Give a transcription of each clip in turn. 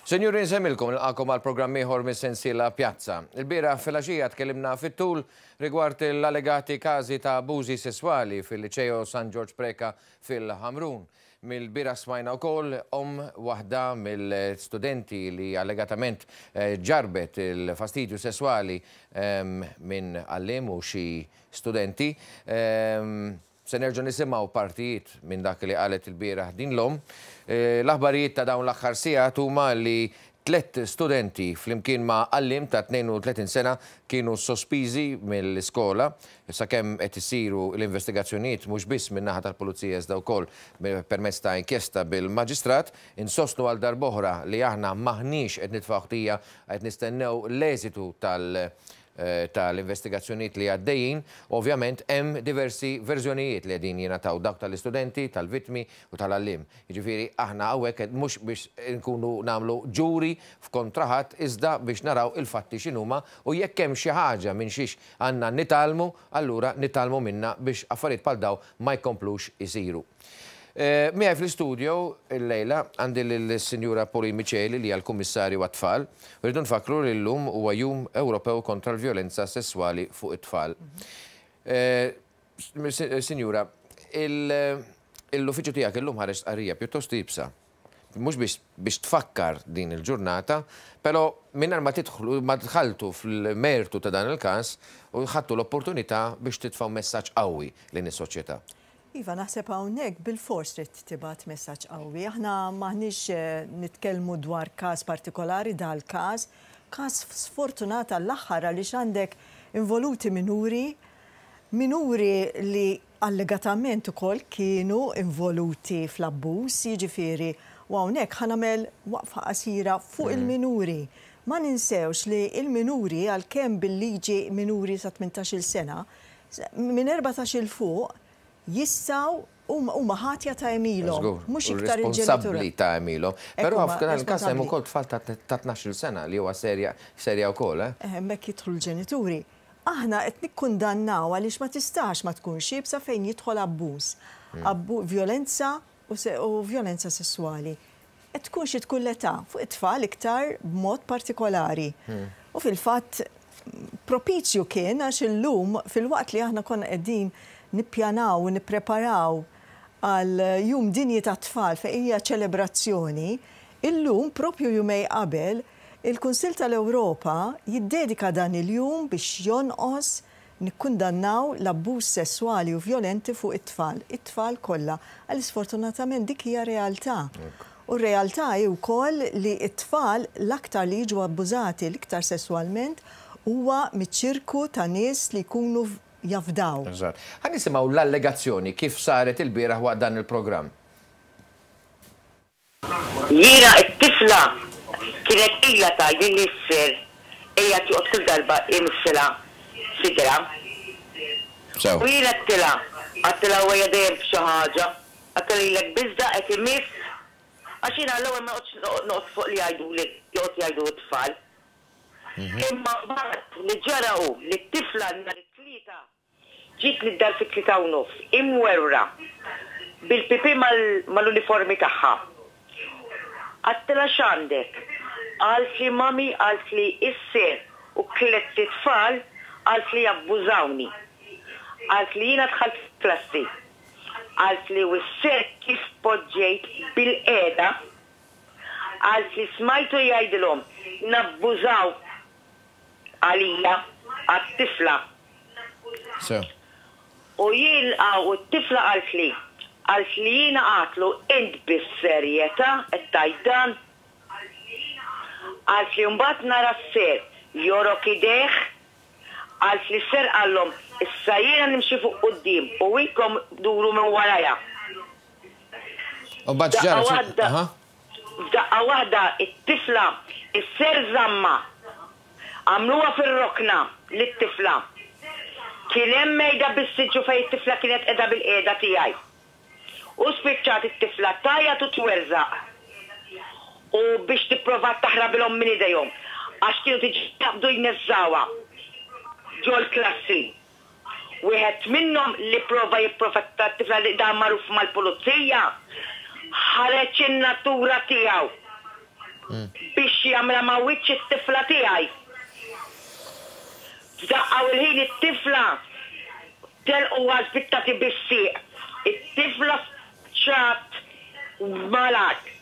Sinjuri nsemmilkom nilqakom għal programm ieħor mis-sensiela Pjazza. Il-bieraħ filgħaxija tkellimna fit-tul rigward l-allegati każi ta' abbużi sesswali fil-Liċeo San Ġorġ Preca fil-Ħamrun. Mill-bieraħ smajna wkoll omm waħda mill-studenti li allegatament ġarrbet il-fastidju sesswali minn għalliem u xi studenti. Se nerġgħu nisimgħu partijiet minn dak li qalet ilbieraħ din l-omm. L-aħbarijiet ta' dawn l-aħħar sigħat huma li tlett studenti flimkien ma' għalliem ta' 32 sena kienu sospiżi mill-iskola sakemm qed isiru l-investigazzjonijiet mhux biss min-naħa tal-Pulizija iżda wkoll permezz ta' inkjesta bil-Maġistrat. Insostnu għal darb'oħra li aħna m'aħniex qed nitfgħu ħtija qed nistennew l-eżitu tal tal-investigazzjonijiet li għaddejjin, ovvjament hemm diversi verżjonijiet li qegħdin jingħataw, dawk tal-istudenti, tal-vittmi u tal-għalliem. Jiġifieri aħna hawnhekk qed mhux biex inkunu nagħmlu ġuri f'kontra ħadd iżda biex naraw il-fatti x'inhuma u jekk hemm xi ħaġa minn xiex għandna nitgħallmu, allura nitgħallmu minnha biex affarijiet bħal dawn ma jkomplux isiru. Miegħi fl-istudio illejla għandi lill-Sinjura Pauline Miceli li hija l-Kummissarju għat-Tfal. U rridu nfakkru li llum huwa Jum Ewropew kontra l-Vjolenza Sesswali fuq it-Tfal. Sinjura, l-uffiċċju tiegħek illum ħareġ stqarrija pjuttost iebsa. Mhux biex biex tfakkar din il-ġurnata, però mingħajr ma tidħlu ma dħaltu fil-mertu ta' dan il-każ u ħadtu l-opportunità biex titfgħu messaġġ qawwi lejn is-soċjetà. Iva, naħseb hawnhekk bilfors trid tibgħat messaġġ qawwi. Aħna m'aħniex nitkellmu dwar każ partikolari, dal-każ, każ sfortunat għall-aħħar għaliex għandek involuti minuri, minuri li allegatament ukoll kienu involuti fl-abbuż, jiġifieri, u hawnhekk ħa nagħmel waqfa qasira fuq il-minuri. Ma ninsewx li l-minuri għalkemm bil-liġi minuri sa 18-il sena, Minn 14 'il fuq jistgħu huma ħatja ta' għemilhom, mhux iktar il-ġenituri. Responsabbli ta' għemilhom. Però f'dan il-każ hemm ukoll tfal ta' 12-il sena li huwa serja serja wkoll, eh? Hemmhekk jidħlu l-ġenituri. Aħna qed nikkundannaw għaliex ma tistax ma tkunx iebsa fejn jidħol abbuż, vjolenza u vjolenza sesswali. Tkun xi tkun l-età, fuq it-tfal iktar b'mod partikolari. U fil-fatt propizju kien għax illum filwaqt li aħna konna qegħdin nippjanaw u nippreparaw għal Jum Dinji tat-Tfal fejn hija ċelebrazzjoni, illum propju jumejn qabel, il-Kunsill tal-Ewropa jiddedika dan il-jum biex jonqos Nikkundannaw l-abbuż sesswali u vjolenti fuq it-tfal, it-tfal kollha, għaliex sfortunatament dik hija realtà. U r-realtà hi wkoll li t-tfal l-aktar li jiġu abbużati l-iktar sesswalment huwa miċ-ċirku ta' nies li jkunu jafdaw. Eżatt. Ħa nisimgħu l-allegazzjoni kif saret ilbieraħ waqt dan il-programm. Jiena t-tifla kienet ilha tgħidli li s-sir qiegħed joqgħod kull darba jmissilha sidrha. Sew. U jien għedtilha, għedtilha huwa qiegħed dejjem f'xi ħaġa, għedtilha lilek biss da qed imiss. Għax jiena għall-ewwel ma noqgħodx noqgħod fuq li jgħiduli, joqgħod jgħidu t-tfal. Imma mbagħad li ġara hu li t-tifla nhar it-Tlieta Ġietni d-dar fit-3:30, imwerwra, bil-pipì mal-uniformi tagħha. Għedtilha x'għandek? Qaltli mummy qaltli is-sir u tlett itfal qaltli abbużawni. Qaltli jiena dħalt fil-klassi. Qaltli u s-sir kif poġġejt bilqiegħda qaltli smajtu jgħidilhom nabbużaw għalija, għat-tifla. Sew. U jien u t-tifla qaltli, qaltli jiena għadtlu int bis-serjetà qed tgħid dan? Qaltli mbagħad nara s-sir jogħrok idejh, qaltli s-sir qallhom issa jiena nimxi fuq quddiem u inkom duru minn warajja. U mbagħad x'ġara? F'daqqa waħda t-tifla s-ser żammha. Għamluha fir-rokna lit-tifla. Kien hemm mejda bis-siġġu fejn it-tifla kienet qiegħda bilqiegħda tiegħi. U spiċċat it-tifla tgħajjat u twerżaq u biex tipprova taħrabilhom minn idejhom għax kienu diġà jaqbdu jneżżgħuha ġol-klassi. Wieħed minnhom li pprova jipprofetta t-tifla li dan magħruf mal-pulizija, ħareġ in-natura tiegħu. Biex jagħmilha ma' wiċċ it-tifla tiegħi. F'daqqa u l-ħin it-tifla telqu għażbit tagħti bis-sieq. It-tifla spiċċat mal-art.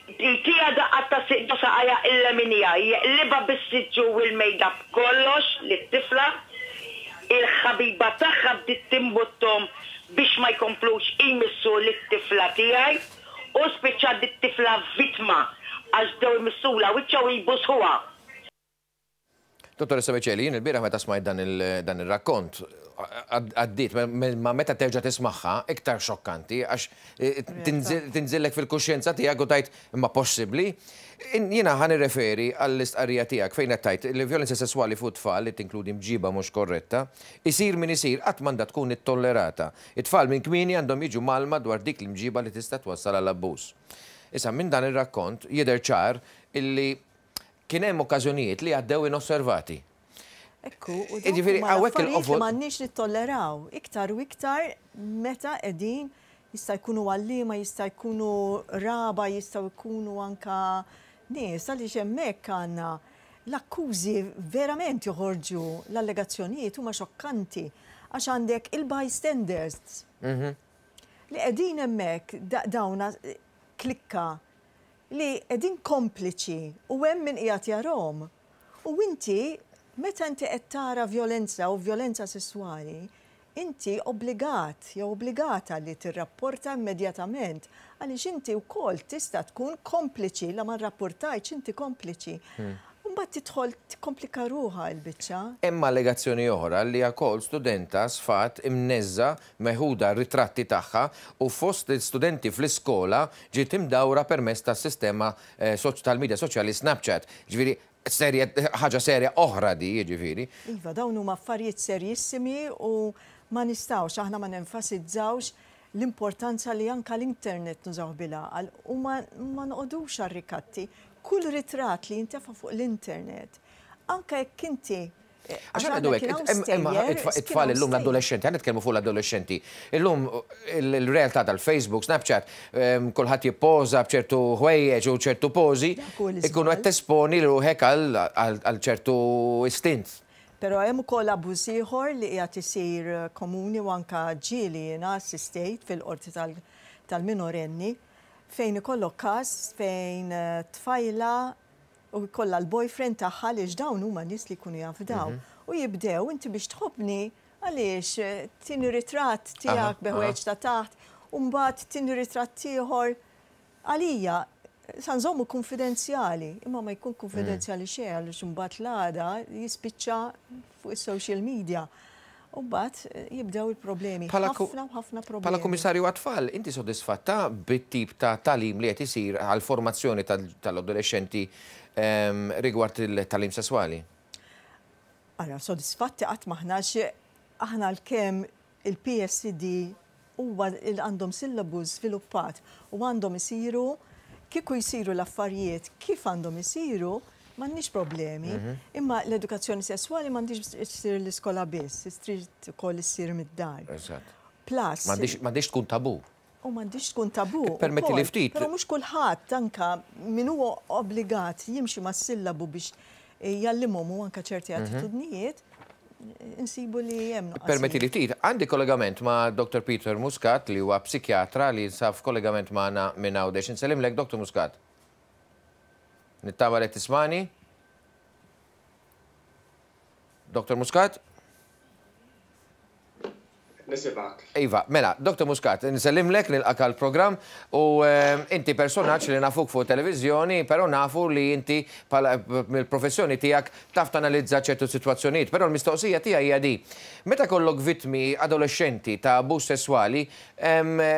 Jtiha daqqa ta' sieq ġo saqajha il-leminija, jeqlibha bis-siġġu u l-mejda b'kollox lit-tifla. Il-ħabiba tagħha bdiet timbutthom biex ma jkomplux jmissu lit-tifla tiegħi u spiċċat dit-tifla vittma għax bdew imissulha wiċċha u jbusħuha. Dottoressa Miceli, jien ilbieraħ meta smajt dan ir-rakkont, għaddiet, ma meta terġa' tismagħha, iktar xokkanti, għax tinżillek fil-kuxjenza tiegħek u tgħid imma possibbli? Jiena ħa nirreferi għall-istqarrija tiegħek fejn qed tgħid li vjolenza sesswali fuq it-tfal li tinkludi mġiba mhux korretta, isir min isir qatt m'għandha tkun ittollerata. It-tfal minn kmieni għandhom jiġu mgħallma dwar dik l-imġiba li tista' twassal għal abbuż. Issa minn dan ir-rakkont jidher ċar illi Kien hemm okkażjonijiet li għaddew inosservati. Ekku, u dawk huma l-affarijiet li m'għandniex nittolleraw, iktar u iktar meta qegħdin jista' jkunu għalliema, jista' jkunu qraba, jistgħu jkunu anke nies, għaliex hemmhekk għandna l-akkużi verament joħorġu, l-allegazzjonijiet huma xokkanti għax għandek il-bystanders li qegħdin hemmhekk dawn klikka li qegħdin kompliċi u hemm min qiegħed jarahom. U inti, meta inti qed tara vjolenza u vjolenza sesswali, inti obbligat jew obbligata li tirrapporta immedjatament għaliex inti wkoll tista' tkun kompliċi, la ma rrappurtajtx inti kompliċi. Mbagħad tidħol tikkomplika ruħha l-biċċa. Hemm allegazzjoni oħra li wkoll studenta sfat imneżża meħuda ritratti tagħha u fost l-istudenti fl-iskola ġiet imdawra permezz tas-sistema tal-midja soċjali Snapchat. Ġifieri serje ħaġa serja oħra di, jiġifieri. Iva, dawn huma affarijiet serjissimi u ma nistgħux aħna ma nenfasizzawx l-importanza li anke l-internet nużawh bil-għaqal u ma ma noqogħdux għar-rikatti. Kull ritratt li jintefa' fuq l-internet, anke jekk inti Għax għandu hekk, imma it-tfal illum l-adolescenti, għan nitkellmu fuq l-adolescenti. Illum il-realtà tal-Facebook, Snapchat, kulħadd jippoża b'ċertu ħwejjeġ u ċertu pożi, ikunu qed tesponi ruħek għal ċertu istint. Però hemm ukoll abbuż ieħor li qiegħed isir komuni u anke ġieli jiena assistejt fil-qorti tal-minorenni fejn ikollok każ fejn tfajla u jkollha l-boyfriend tagħha għaliex dawn huma nies li jkunu jafdaw. U jibdew inti biex tħobbni għaliex tini ritratt tiegħek bi ħwejjeġ ta' taħt u mbagħad tini ritratt ieħor. Għalija sa nżommu kunfidenzjali, imma ma jkun kunfidenzjali xejn għaliex imbagħad l-għada jispiċċa fuq is-social media. U mbagħad jibdew il-problemi. Ħafna u ħafna problemi. Bħala Kummissarju għat-Tfal, inti sodisfatta bit-tip ta' tagħlim li qed isir għall-formazzjoni tal-adolexxenti rigward il-tagħlim sesswali? Ara, sodisfatti qatt m'aħna għax aħna għalkemm Il-PSD huwa għandhom syllabus żviluppat u għandhom isiru, kieku jsiru l-affarijiet kif għandhom isiru, m'għandniex problemi. Imma l-edukazzjoni sesswali m'għandhiex issir l-iskola biss, trid ukoll issir mid-dar. Eżatt. Plus. M'għandhiex tkun tabù. U m'għandhiex tkun tabù. Ippermettili ftit. Però mhux kulħadd, anke min hu obbligat jimxi mas-sillabu biex jgħallimhom u anke ċerti attitudnijiet, insibu li hemm nuqqasijiet. Ippermettili ftit, għandi kollegament ma' Dottor Peter Muscat li huwa psikjatra li jinsab f'kollegament magħna minn Għawdex. Insellimlek Dottor Muscat. Nittama li qed tismagħni. Dottor Muscat? Nisimgħek. Iva, mela, Dr. Muscat, nsellimlek, nilqak għall-programm u inti personaġġ li nafuk fuq televiżjoni, però nafu li inti mill-professjoni tiegħek taf tanalizza ċertu sitwazzjonijiet, però l-mistoqsija tiegħi hija di. Meta jkollok vittmi adolexxenti ta' abbuż sesswali,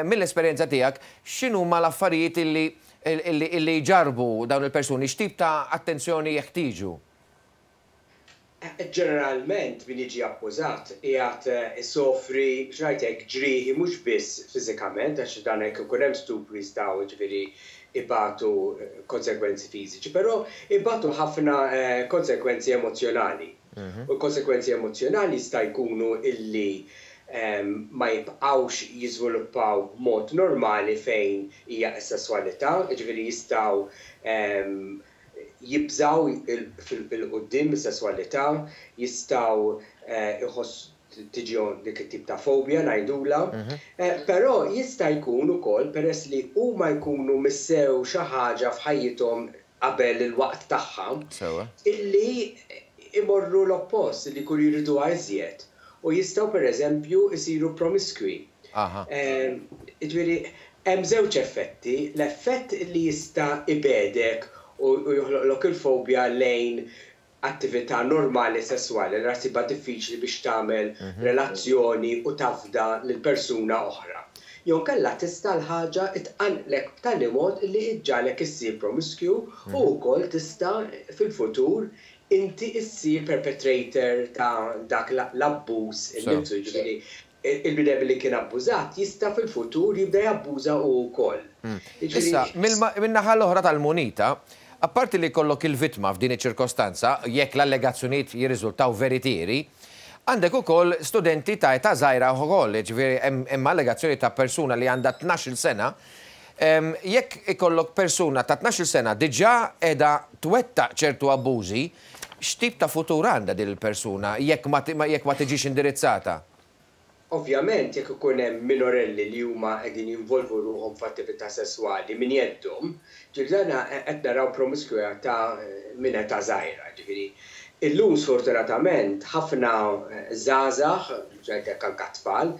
mill-esperjenza tiegħek, x'inhuma l-affarijiet illi jġarrbu dawn il-persuni, x'tip ta' attenzjoni jeħtieġu? Ġeneralment min jiġi akkużat qiegħed isofri, biex ngħid hekk, ġrieħi mhux biss fiżikament, għax dan hekk ikun hemm stupri jistgħu jiġifieri ibatu konsegwenzi fiżiċi, però ibatu ħafna konsegwenzi emozzjonali. U l-konsegwenzi emozzjonali jista' jkunu illi. ma jibqgħux jiżviluppaw b'mod normali fejn hija s-sesswalità, jiġifieri jistgħu jibżgħu 'l quddiem mis-sesswalità, jistgħu jħossu tiġihom dik it-tip ta' fobja ngħidulha. Però jista' jkun ukoll peress li huma jkunu missew xi ħaġa f'ħajjithom qabel il-waqt tagħha, illi imorru l-oppost, illi jkunu jriduha iżjed u jistgħu pereżempju jsiru promiskwi. Jiġifieri hemm żewġ effetti, l-effett li jista' ibegħdek u joħloqlok il-fobja lejn attività normali sesswali, allura ssibha diffiċli biex tagħmel relazzjoni u tafda lil persuna oħra. Jew inkella tista' l-ħaġa tqanqlek b'tali mod li ġġagħlek issir promiscue u wkoll tista' fil-futur inti ssir perpetrator ta' dak l-abbuż innifsu, jiġifieri il-bniedem li kien abbużat jista' fil-futur jibda jabbuża hu wkoll. Issa, min-naħa l-oħra tal-munita, apparti li jkollok il-vittma f'din iċ-ċirkostanza, jekk l-allegazzjonijiet jirriżultaw veritieri, għandek ukoll studenti ta' età żgħira wkoll, jiġifieri hemm allegazzjoni ta' persuna li għandha 12-il sena. Jekk ikollok persuna ta' 12-il sena diġà qiegħda twettaq ċertu abbużi, x'tip ta' futur għandha din il-persuna jekk ma tiġix indirizzata? Ovvjament jekk ikun hemm minorelli li huma qegħdin jinvolvu ruħhom f'attività sesswali minn jeddhom, ġifieri dan qed naraw promiskwità minn età żgħira, ġifieri illum sfortunatament ħafna żgħażagħ, mhux ngħid hekk anke tfal,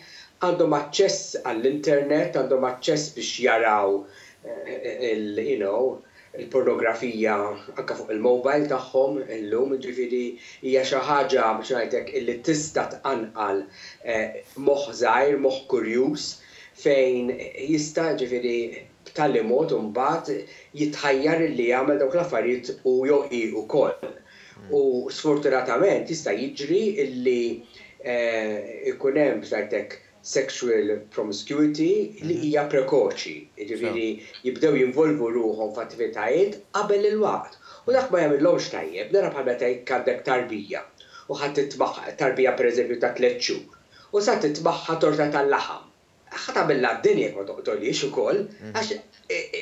għandhom aċċess għall-internet, għandhom aċċess biex jaraw il you know, il-pornografija anke fuq il-mobile tagħhom illum, jiġifieri hija xi ħaġa biex ngħid hekk illi tista' tqanqal moħħ żgħir, moħħ kurjuż fejn jista' jiġifieri b'tali mod imbagħad jitħajjar illi jagħmel dawk l-affarijiet hu jew hi wkoll. U sfortunatament jista' jiġri illi jkun hemm biex ngħid hekk sexual promiscuity li hija prekoċi, jiġifieri jibdew jinvolvu ruħhom f'attivitajiet qabel il-waqt. U dak ma jagħmilhomx tajjeb, nara bħal meta jekk għandek tarbija u ħa titmagħha, tarbija pereżempju ta' tlett xhur, u sa titmagħha torta tal-laħam. Ħa tagħmilha d-dinja jekk ma toqtolhiex ukoll, għax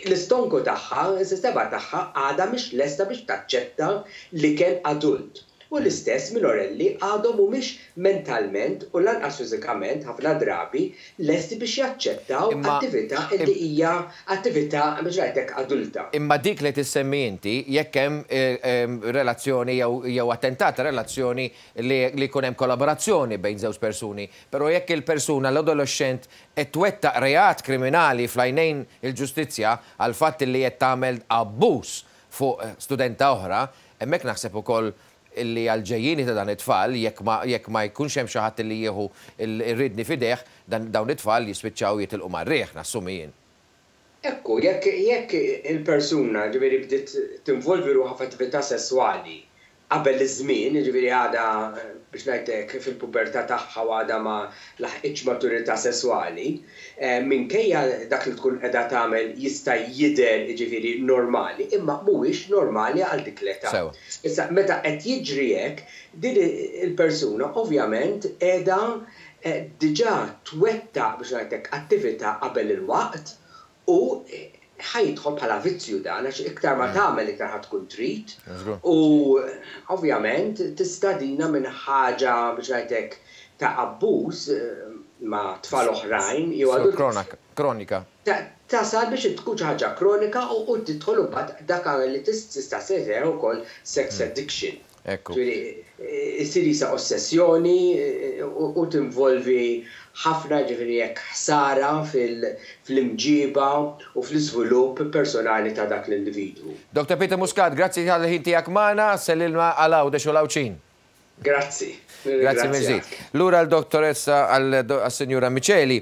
l-istonku tagħha, is-sistema tagħha għadha mhix lesta biex taċċetta l-ikel adult. U l-istess minorelli għadhom mhumiex mentalment u lanqas fiżikament ħafna drabi lesti biex jaċċettaw attività li hija attività biex ngħid hekk adulta. Imma dik li qed issemmi inti, jekk hemm relazzjoni jew attentat ta' relazzjoni li jkun hemm kollaborazzjoni bejn żewġ persuni, però jekk il-persuna, l-adolexxent qed twettaq reat kriminali fl-għajnejn il-ġustizzja għall-fatt li qed tagħmel abbuż fuq studenta oħra, hemmhekk naħseb ukoll illi għall-ġejjieni ta' dan it-tfal, jekk ma jekk ma jkunx hemm xi ħadd illi jieħu r-riedni f'idejh, dan dawn it-tfal jispiċċaw jitilqu mar-riħ, nassumi jien. Ekku, jekk jekk il-persuna, ġifieri bdiet tinvolvi ruħha f'attività sesswali qabel iż-żmien, jiġifieri għadha, biex ngħid hekk, fil-pubertà tagħha u għadha ma laħqitx maturità sesswali, minkejja dak li tkun qiegħda tagħmel jista' jidher, jiġifieri, normali, imma mhuwiex normali għal dik l-età. Issa, meta qed jiġri hekk, din il-persuna ovvjament qiegħda diġà twettaq, biex ngħid hekk, attività qabel il-waqt U ħa jidħol bħala vizzju dan għax iktar ma tagħmel iktar ħa tkun trid u ovvjament tista' dina minn ħaġa biex ngħid hekk ta' abbuż ma' tfal oħrajn jew adulti. Kronika. Tasal biex tkun xi ħaġa kronika u tidħol imbagħad dak li tista' ssejjaħ ukoll sex addiction. Ekku. Ġifieri, issir qisha ossessjoni u tinvolvi ħafna, ġifieri hekk ħsara fl-imġiba u fl-iżvilupp personali ta' dak l-individwu. Doctor Peter Muscat, grazzi tal-ħin tiegħek magħna, sellilna għal Għawdex u l-Għawdxin. Grazzi. Grazzi mill-ġdid. Lura għal-dottoressa għal-Sinjura Miceli.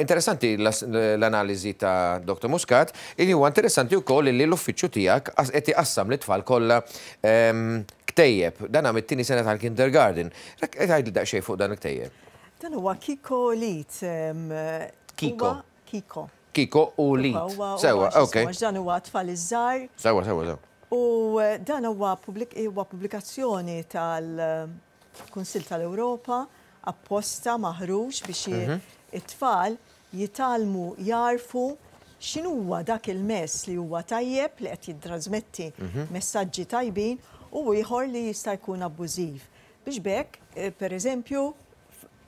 Interessanti l-analiżi ta' Dr. Muscat, illi huwa interessanti wkoll li l-uffiċċju tiegħek qed iqassam lit-tfal kollha ktejjeb. Dan mit-tieni sena tal-kindergarten. Qed tgħidli daqsxejn fuq dan il-ktejjeb. Dan huwa Kiko Lit. Kiko. Kiko. Kiko u Lit. Sewa, ok. Dan huwa tfal iż-żgħar. Sewa, sewa, sewa. U dan huwa pubblikazzjoni tal-Kunsill tal-Ewropa. apposta maħruġ biex it-tfal jitgħallmu jagħrfu x'inhuwa dak il-mess li huwa tajjeb li qed jittrażmetti messaġġi tajbin u ieħor li jista' jkun abbużiv. Biex b'hekk, per eżempju,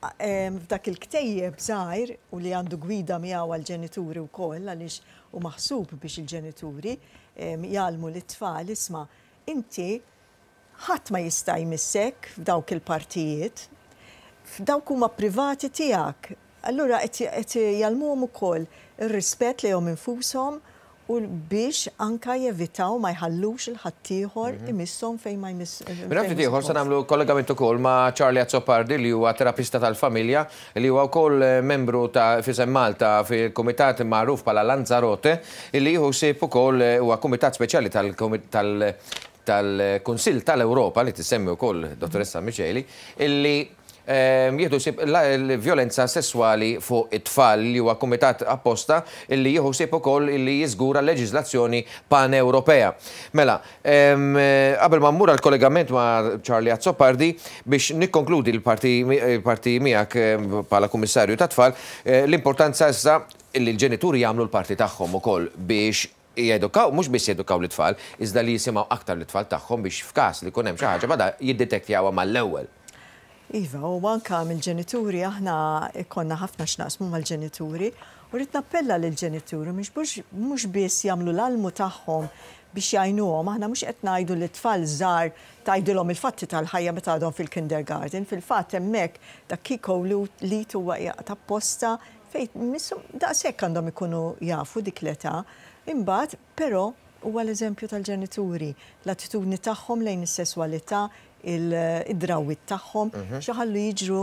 f'dak il-ktejjeb żgħir u li għandu gwida miegħu għall-ġenituri wkoll għaliex hu maħsub biex il-ġenituri jgħallmu lit-tfal isma' inti ħadd ma jista' jmissek f'dawk il-partijiet, f'dawk huma privati tiegħek. Allura qed jgħallmuhom ukoll ir-rispett lejhom infushom u biex anka jevitaw ma jħallux lil ħaddieħor imisshom fejn ma jmiss. Minn ftit ieħor se nagħmlu kollegament ukoll ma' Charlie Azzopardi li huwa terapista tal-familja li huwa wkoll membru ta' f'isem Malta fil-kumitat magħruf bħala Lanzarote illi jieħu ħsieb ukoll huwa kumitat speċjali tal-Kunsill tal-Ewropa li tissemmi wkoll Dottoressa Miceli illi jieħdu ħsieb l-vjolenza sesswali fuq it-tfal li huwa kumitat apposta illi jieħu ħsieb ukoll illi jiżgura leġiżlazzjoni pan-Ewropea. Mela, qabel ma mmur għall-kollegament ma' Charlie Azzopardi biex nikkonkludi l-parti miegħek bħala Kummissarju tat-Tfal, l-importanza issa illi l-ġenituri jagħmlu l-parti tagħhom ukoll biex jedukaw, mhux biss jedukaw l-tfal, iżda li jisimgħu aktar l-tfal tagħhom biex f'każ li jkun hemm xi ħaġa bada jiddetektjawha mal-ewwel. Iva, u anka mill-ġenituri aħna konna ħafna x'naqsmu mal-ġenituri u rrid nappella lill-ġenituri mhux biss jagħmlu l-almu tagħhom biex jgħinuhom, aħna mhux qed ngħidu li tfal żgħar tgħidilhom il-fatti tal-ħajja meta għadhom fil-kindergarten, fil-fatt hemmhekk dak Kiko li huwa apposta fejn daqshekk għandhom ikunu jafu dik l-età. Imbagħad, però, huwa l-eżempju tal-ġenituri, l-attitudni tagħhom lejn is-sesswalità, id-drawwiet tagħhom, x'iħallu jiġru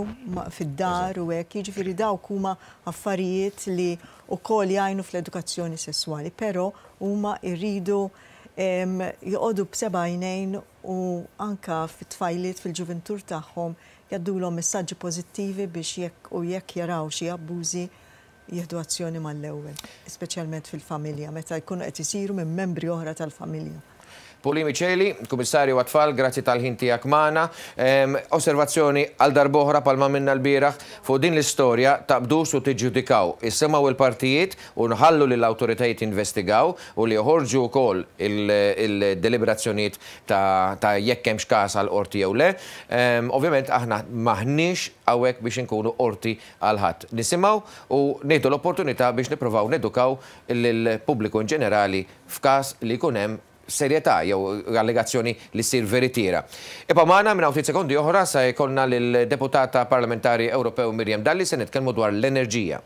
fid-dar u hekk, jiġifieri dawk huma affarijiet li wkoll jgħinu fl-edukazzjoni sesswali, però huma jridu joqogħdu b'seba' għajnejn u anka fit-tfajliet fil-ġuventur tagħhom jgħaddulhom messaġġi pożittivi biex jekk u jekk jaraw xi abbużi jieħdu azzjoni mal-ewwel, speċjalment fil-familja, meta jkunu qed isiru minn membri oħra tal-familja. Pauline Miceli, Kummissarju għat-Tfal, grazzi tal-ħin tiegħek magħna. Osservazzjoni għal darb'oħra bħalma għamilna lbieraħ fuq din l-istorja taqbdux u tiġġudikaw. Isimgħu il-partijiet u nħallu li l-awtoritajiet investigaw u li joħorġu wkoll il-deliberazzjonijiet ta' jekk hemmx każ għal qorti jew le. Ovvjament aħna m'aħniex hawnhekk biex inkunu qorti għal ħadd. Nisimgħu u nieħdu l-opportunità biex nippruvaw nedukaw lill-pubbliku in ġenerali f'każ li jkun hemm serjetà jew allegazzjoni li ssir veritiera. Ibqgħu magħna minn ftit sekondi oħra sa jkollna lill-deputata parlamentari Ewropew Miriam Dalli se nitkellmu dwar l-enerġija.